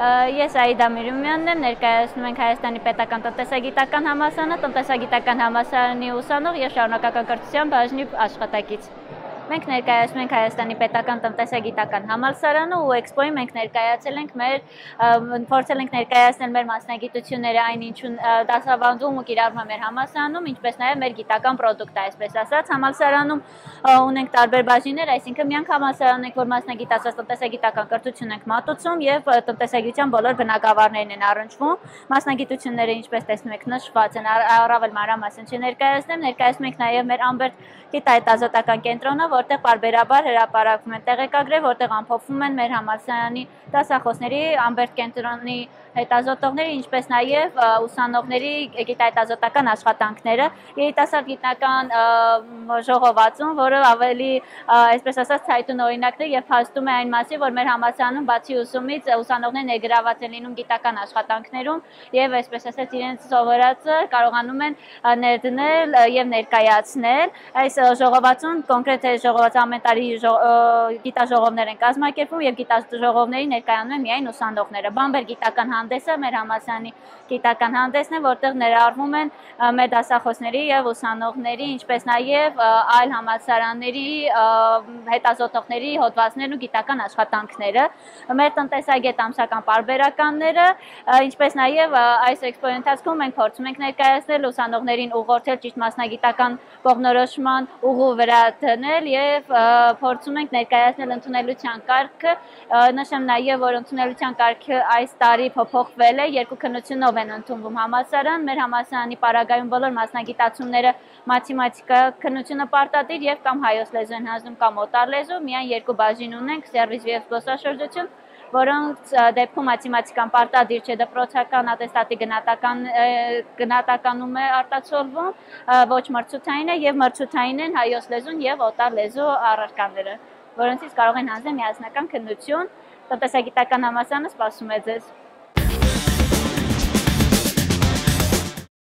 Ես Աիդա Միրումյանն եմ, ներկայացնում ենք Հայաստանի պետական տնտեսագիտական համալսարանը, տնտեսագիտական համալսարանի ուսանող եւ շարունակական կրթության բաժնի աշխատակից։ Մենք ներկայացնում ենք Հայաստանի պետական տնտեսագիտական համալսարանը ու էքսպոյին մենք ներկայացել ենք փորձել ենք ներկայացնել մեր մասնագիտությունները այն ինչուն դասավանդում ու կիրառվում է մեր համալսարանում, ինչպես նաև մեր գիտական պրոդուկտը, այսպես ասած, համալսարանում ունենք տարբեր բաժիններ, այսինքն միանք համալսարան ենք, որ մասնագիտացած տնտեսագիտական կրթություն ենք մատուցում եւ տնտեսագիտության բոլոր բնագավառներն են առնչվում։ Մասնագիտությունները, ինչպես տեսնում եք, նշված են, առավել մանրամասն չներկայացնեմ, ներկայացնում ենք նաև մեր Ամբերտ գիտահետազոտական կենտրոնը, որտեղ պարբերաբար հրապարակվում են տեղեկագրեր, որտեղ ամփոփվում են մեր համալսարանի դասախոսների, Ամբերտ կենտրոնի հետազոտողների, ինչպես նաև ուսանողների գիտահետազոտական աշխատանքները, երիտասարդ գիտնական ժողովածուն, որը ավելի, այսպես ասած, ցայտուն օրինակն է եւ փաստում է այն մասին, որ մեր համալսարանում բացի ուսումից ուսանողները ներգրաված են լինում գիտական աշխատանքներում եւ այսպես ասած իրենց սովորածը կարողանում են ներդնել եւ ներկայացնել։ Այս ժողովածուն կոնկրետ ժողոված ամեն տարի գիտաժողովներ են կազմակերպվում եւ գիտաժողովների ներկայանում են միայն ուսանողները։ Բամբեր գիտական հանդեսը մեր համալսարանի գիտական հանդեսն է, որտեղ ներառվում են մեր դասախոսների եւ ուսանողների, ինչպես նաեւ այլ համալսարանների հետազոտողների հոդվածներն ու գիտական աշխատանքները, մեր տնտեսագետ ամսական պարբերականները, ինչպես նաեւ այս էքսպոյի ընթացքում մենք փորձում ենք ներկայացնել ուսանողներին ուղղորդել ճիշտ մասնագիտական կողմնորոշման ուղու վրա դնել եւ փորձում ենք ներկայացնել ընդունելության կարգը, նշեմ նաեւ որ ընդունելության կարգը այս տարի փոփոխվել է, երկու քննությունով են ընդունվում համալսարան, մեր համալսարանի պարագայում բոլոր մասնագիտացումները մաթեմատիկա քննությունը պարտադիր եւ կամ հայոց լեզու են հանձնում կամ օտար լեզու, միայն երկու բաժին ունենք, սերվիս եւ զբոսաշրջություն, որոնց դեպքում մաթեմատիկան պարտադիր չէ, դպրոցական ատեստատի գնահատականում է արտացոլվում, ոչ մրցութային է եւ մրցութային են հայոց լեզուն եւ օտար լեզու առարկաները, որոնցից կարող են հանձնել միասնական քննություն, տնտեսագիտական համալսարանը սպասում է ձեզ։